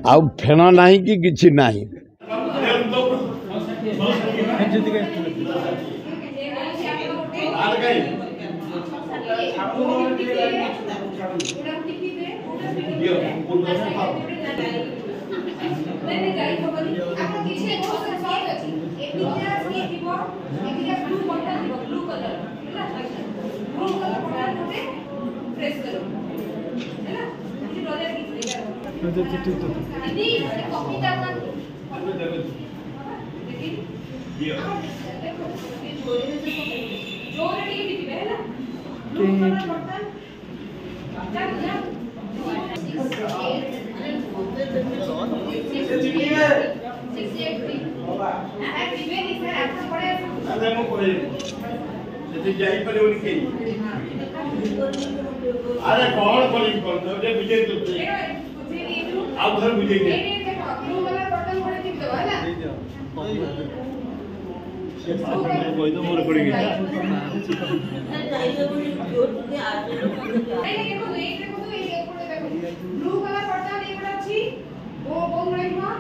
ଆଉ ଫେଣ ନାହିଁ କି କିଛି ନାହିଁ। ଯାଇପାରିବନି କେହି। ଆରେ କଣ କରିବି, କଣ ବୁଝେଇ, ଆଉ ଥରେ ବୁଝେଇ ଦେ। କହିଦବ ମୋର ରେକର୍ଡିଂ। ବ୍ଲୁ କଲର ବର୍ତ୍ତମାନ ଏଇପଟେ ଅଛି, ବହୁତ ଗୁଡେ ନୁହଁ।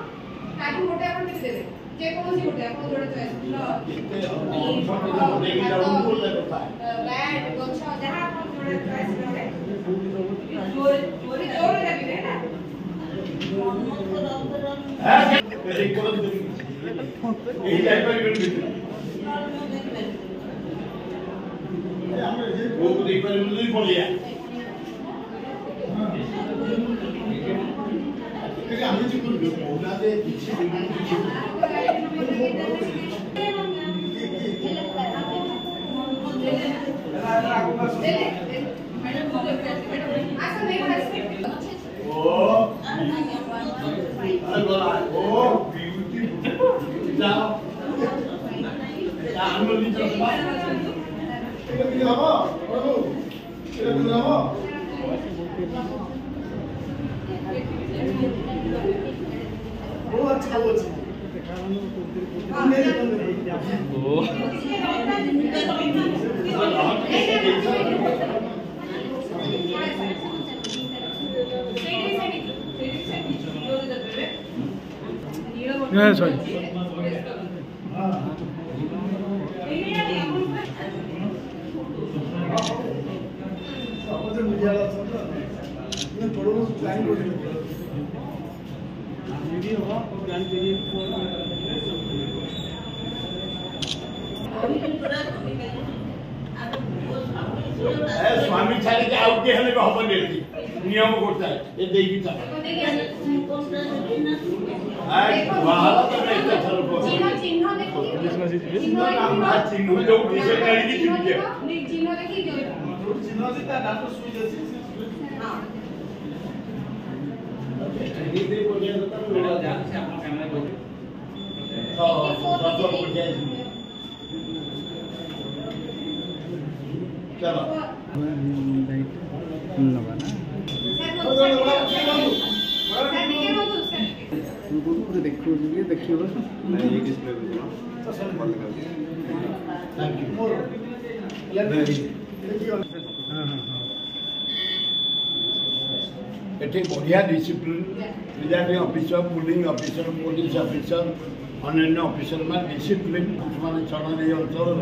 ତାକୁ ଗୋଟେ ଆପଣ ଟିପି ଦେବେ, ଯେକୌଣସି ଗୋଟେ ଆପଣ ଯୋଉଟା ଚଏସ୍, ବ୍ୟାଟ୍, ଗଛ, ଯାହା ଆପଣ ଯୋଉଟା ଚଏସ୍ ଗୋଟେ। ଜୋରେ ଜୋରେ ଜୋରେ ଦାବିବେ ହେଲା। କେହି ଯାଇପାରିବେନି, ପୁଅକୁ ଦେଇପାରିବୁନି, ପଳେଇଆ। ଆମେ କହୁନାହାନ୍ତି କିଛି। ଓ ଓ ବିୟୁଟି ଯାଅ। ହବ ହବ। ଅଛି ଅଛି। ସରି। ସମସ୍ତେ ମିଡ଼ିଆ ଅଛନ୍ତି, ପ୍ଲାନ୍ କରୁଛନ୍ତି। ସ୍ୱାମୀ ଛାଡ଼ିକି ଆଉ କିଏ ହେଲେ ବି ହବନି ଏଠି, ନିୟମ ଗୋଟାଏ ଏ ଦେଇକି ଚାଲ। ତମେ ଏତେ ଥର ଚିହ୍ନ ଯୋଉଠି ସେ ନେଇକି ଯିବି। ଚିହ୍ନ ଅଛି, ତା ନାଁ ସୁଇଚ୍ ଅଛି। ଚାଲ ନେବା ନା ଦେଖୁଛି କି ଦେଖିବ। ଏଠି ବଢ଼ିଆ discipline, presiding officer, polling officer, police officer, ଅନ୍ୟାନ୍ୟ ଅଫିସର ମାନେ ଡିସିପ୍ଲିନ୍ ମାନେ ଚଳନ। ଏଇ ଅଞ୍ଚଳର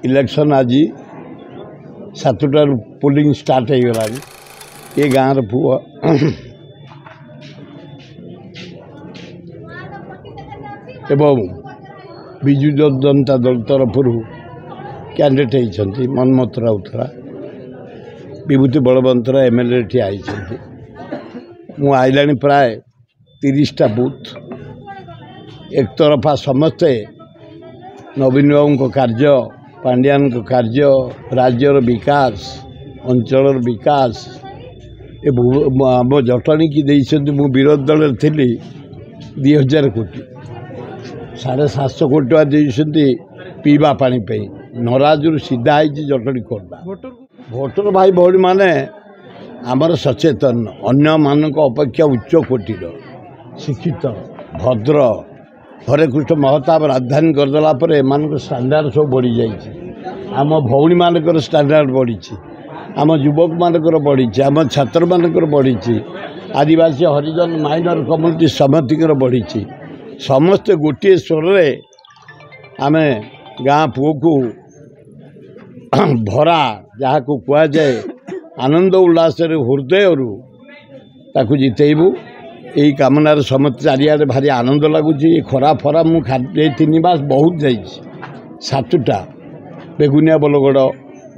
ଇଲେକ୍ସନ୍ ଆଜି 7ଟାରୁ ପୋଲିଂ ଷ୍ଟାର୍ଟ ହେଇଗଲାଣି। ଏ ଗାଁର ପୁଅ ଏବଂ ବିଜୁ ଜନତା ଦଳ ତରଫରୁ କ୍ୟାଣ୍ଡିଡେଟ୍ ହେଇଛନ୍ତି ମନ୍ମଥ ରାଉତରା, ବିଭୂତି ବଳବନ୍ତରାୟ ଏମ୍ ଏଲ୍ ଏ ଠିଆ ହେଇଛନ୍ତି। ମୁଁ ଆଇଲାଣି ପ୍ରାୟ 30ଟା ବୁଥ୍। ଏକତରଫା ସମସ୍ତେ ନବୀନ ବାବୁଙ୍କ କାର୍ଯ୍ୟ, ପାଣ୍ଡିଆନଙ୍କ କାର୍ଯ୍ୟ, ରାଜ୍ୟର ବିକାଶ, ଅଞ୍ଚଳର ବିକାଶ, ଏ ଆମ ଜଟଣୀକି ଦେଇଛନ୍ତି। ମୁଁ ବିରୋଧୀ ଦଳରେ ଥିଲି, 2000 କୋଟି, 750 କୋଟି ଟଙ୍କା ଦେଇଛନ୍ତି ପିଇବା ପାଣି ପାଇଁ। ନରାଜରୁ ସିଧା ହେଇଛି ଜଟଣୀ ଖୋର୍ଦ୍ଧା। ଭୋଟର ଭାଇ ଭଉଣୀମାନେ ଆମର ସଚେତନ, ଅନ୍ୟମାନଙ୍କ ଅପେକ୍ଷା ଉଚ୍ଚ କୋଟିର, ଶିକ୍ଷିତ, ଭଦ୍ର। ହରେକୃଷ୍ଣ ମହତାବ ରାଜଧାନୀ କରିଦେଲା ପରେ ଏମାନଙ୍କ ଷ୍ଟାଣ୍ଡାର୍ଡ଼ ସବୁ ବଢ଼ିଯାଇଛି। ଆମ ଭଉଣୀମାନଙ୍କର ଷ୍ଟାଣ୍ଡାର୍ଡ଼ ବଢ଼ିଛି, ଆମ ଯୁବକମାନଙ୍କର ବଢ଼ିଛି, ଆମ ଛାତ୍ରମାନଙ୍କର ବଢ଼ିଛି, ଆଦିବାସୀ, ହରିଜନ, ମାଇନର କମ୍ୟୁନିଟି ସମସ୍ତଙ୍କର ବଢ଼ିଛି। ସମସ୍ତେ ଗୋଟିଏ ସ୍ୱରରେ ଆମେ ଗାଁ ପୁଅକୁ ଭରା ଯାହାକୁ କୁହାଯାଏ ଆନନ୍ଦ ଉଲ୍ଲାସରେ ହୃଦୟରୁ ତାକୁ ଜିତେଇବୁ, ଏଇ କାମନାରେ ସମସ୍ତେ। ଚାରିଆଡ଼େ ଭାରି ଆନନ୍ଦ ଲାଗୁଛି। ଏ ଖରା ଫରା ମୁଁ ଏଇ 3 ମାସ ବହୁତ ଯାଇଛି, 7ଟା ବେଗୁନିଆ, ବୋଲଗଡ଼,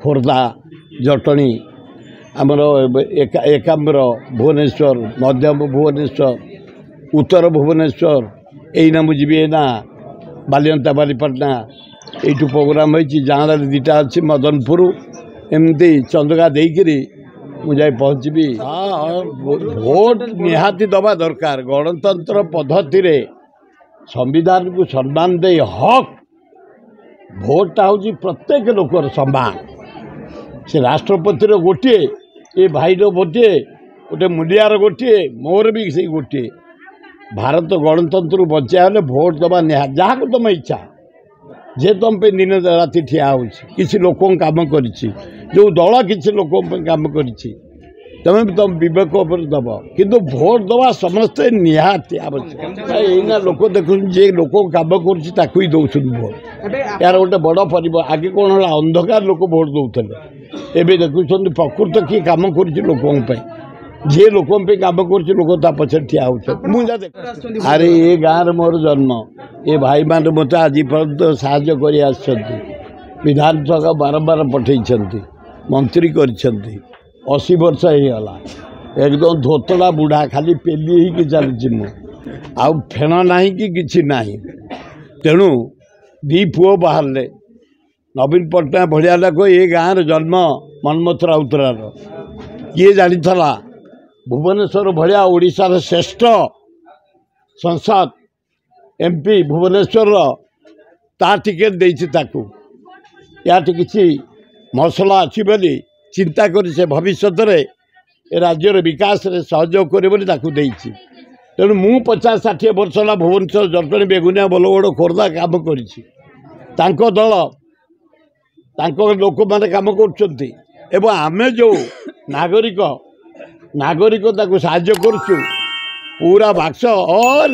ଖୋର୍ଦ୍ଧା, ଜଟଣୀ, ଆମର ଏକାମ୍ର, ଭୁବନେଶ୍ୱର, ମଧ୍ୟମ ଭୁବନେଶ୍ୱର, ଉତ୍ତର ଭୁବନେଶ୍ୱର। ଏଇନା ମୁଁ ଯିବି ଏଇନା ବାଲିଅନ୍ତା, ବାଲିପାଟଣା, ଏଇଠୁ ପ୍ରୋଗ୍ରାମ୍ ହେଇଛି। ଜାଁଳାରେ 2ଟା ଅଛି, ମଦନପୁର, ଏମିତି ଚନ୍ଦକା ଦେଇକିରି ମୁଁ ଯାଇ ପହଞ୍ଚିବି। ହଁ, ଭୋଟ ନିହାତି ଦେବା ଦରକାର। ଗଣତନ୍ତ୍ର ପଦ୍ଧତିରେ ସମ୍ବିଧାନକୁ ସମ୍ମାନ ଦେଇ ହକ୍ ଭୋଟଟା ହେଉଛି ପ୍ରତ୍ୟେକ ଲୋକର ସମ୍ମାନ। ସେ ରାଷ୍ଟ୍ରପତିର ଗୋଟିଏ, ଏ ଭାଇର ଗୋଟିଏ, ଗୋଟେ ମୂଲିଆର ଗୋଟିଏ, ମୋର ବି ସେଇ ଗୋଟିଏ। ଭାରତ ଗଣତନ୍ତ୍ରକୁ ବଞ୍ଚାଇବା ହେଲେ ଭୋଟ ଦେବା ନିହାତି, ଯାହାକୁ ତୁମ ଇଚ୍ଛା, ଯେ ତୁମ ପାଇଁ ଦିନ ରାତି ଠିଆ ହେଉଛି, କିଛି ଲୋକଙ୍କ କାମ କରିଛି, ଯେଉଁ ଦଳ କିଛି ଲୋକଙ୍କ ପାଇଁ କାମ କରିଛି, ତୁମେ ବି ତୁମ ବିବେକ ଉପରେ ଦେବ, କିନ୍ତୁ ଭୋଟ ଦେବା ସମସ୍ତେ ନିହାତି ଆବଶ୍ୟକ। ଏଇନା ଲୋକ ଦେଖୁଛନ୍ତି, ଯିଏ ଲୋକଙ୍କ କାମ କରୁଛି ତାକୁ ହିଁ ଦେଉଛନ୍ତି ଭୋଟ। ଏହାର ଗୋଟେ ବଡ଼ ପରିବ। ଆଗେ କ'ଣ ହେଲା, ଅନ୍ଧକାର ଲୋକ ଭୋଟ ଦେଉଥିଲେ। ଏବେ ଦେଖୁଛନ୍ତି ପ୍ରକୃତ କିଏ କାମ କରୁଛି ଲୋକଙ୍କ ପାଇଁ, ଯିଏ ଲୋକଙ୍କ ପାଇଁ କାମ କରୁଛି ଲୋକ ତା ପଛରେ ଠିଆ ହେଉଛନ୍ତି। ମୁଁ ଯାହା ଦେଖ, ଆରେ ଏ ଗାଁରେ ମୋର ଜନ୍ମ, ଏ ଭାଇମାନେ ମୋତେ ଆଜି ପର୍ଯ୍ୟନ୍ତ ସାହାଯ୍ୟ କରି ଆସିଛନ୍ତି, ବିଧାନସଭା ବାରମ୍ବାର ପଠେଇଛନ୍ତି, ମନ୍ତ୍ରୀ କରିଛନ୍ତି। 80 ବର୍ଷ ହେଇଗଲା, ଏକଦମ ଧୋତଳା ବୁଢ଼ା, ଖାଲି ପେଲି ହେଇକି ଚାଲିଛି ମୁଁ, ଆଉ ଫେଣ ନାହିଁ କି କିଛି ନାହିଁ। ତେଣୁ 2 ପୁଅ ବାହାରିଲେ, ନବୀନ ପଟ୍ଟନାୟକ ଭଳିଆ ଲୋକ, ଏ ଗାଁରେ ଜନ୍ମ ମନ୍ମଥ ରାଉତରାର। କିଏ ଜାଣିଥିଲା ଭୁବନେଶ୍ୱର ଭଳିଆ ଓଡ଼ିଶାର ଶ୍ରେଷ୍ଠ ସଂସଦ ଏମ୍ପି ଭୁବନେଶ୍ୱରର ତା ଟିକେଟ୍ ଦେଇଛି ତାକୁ। ୟାଠି କିଛି ମସଲା ଅଛି ବୋଲି ଚିନ୍ତା କରି ସେ ଭବିଷ୍ୟତରେ ଏ ରାଜ୍ୟର ବିକାଶରେ ସହଯୋଗ କରିବ ବୋଲି ତାକୁ ଦେଇଛି। ତେଣୁ ମୁଁ 50-60 ବର୍ଷ ହେଲା ଭୁବନେଶ୍ୱର, ଜଟଣୀ, ବେଗୁନିଆ, ବୋଲଗଡ଼, ଖୋର୍ଦ୍ଧା କାମ କରିଛି। ତାଙ୍କ ଦଳ, ତାଙ୍କ ଲୋକମାନେ କାମ କରୁଛନ୍ତି ଏବଂ ଆମେ ଯେଉଁ ନାଗରିକ ତାକୁ ସାହାଯ୍ୟ କରୁଛୁ। ପୁରା ବାକ୍ସ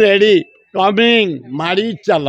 ରେଡ଼ି, କମିଂ, ମାଡ଼ି ଚାଲ।